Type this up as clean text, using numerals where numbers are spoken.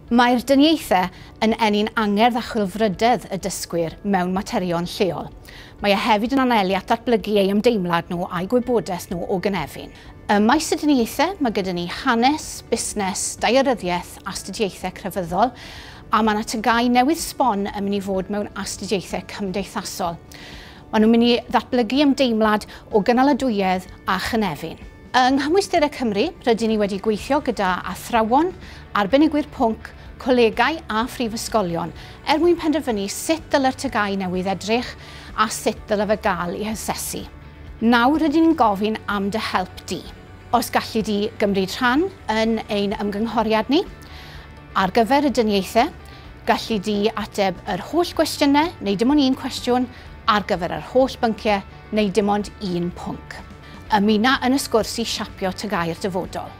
Mae'r dyniaethau yn ennyn angerdd a chwilfrydedd y dysgwyr mewn materion lleol. Mae e hefyd yn anelu at ddatblygu eu ymdeimlad nhw a'u gwybodaeth nhw o gynefin. Ym maes y dyniaethau, mae gyda ni hanes, busnes, daearyddiaeth, astudiaethau crefyddol, a mae yna TGAU newydd sbon yn mynd i fod mewn astudiaethau cymdeithasol. Maen nhw'n mynd i ddatblygu ymdeimlad o gynaladwyedd a chynefin. Yng Nghymwysterau Cymru, rydyn ni wedi gweithio gyda athrawon, arbenigwyr pwnc, colegau a phrifysgolion er mwyn penderfynu sut dylai'r TGAU newydd edrych a sut dylai fe gael ei hasesu. Nawr rydyn ni'n gofyn am dy help di. Os galli di gymryd rhan yn ein ymgynghoriad ni, ar gyfer y dyniaethau, galli di ateb yr holl gwestiynau neu dim ond un cwestiwn ar gyfer yr holl bynciau neu dim ond un pwnc. Ymuna yn y sgwrs i siapio TGAU'r dyfodol.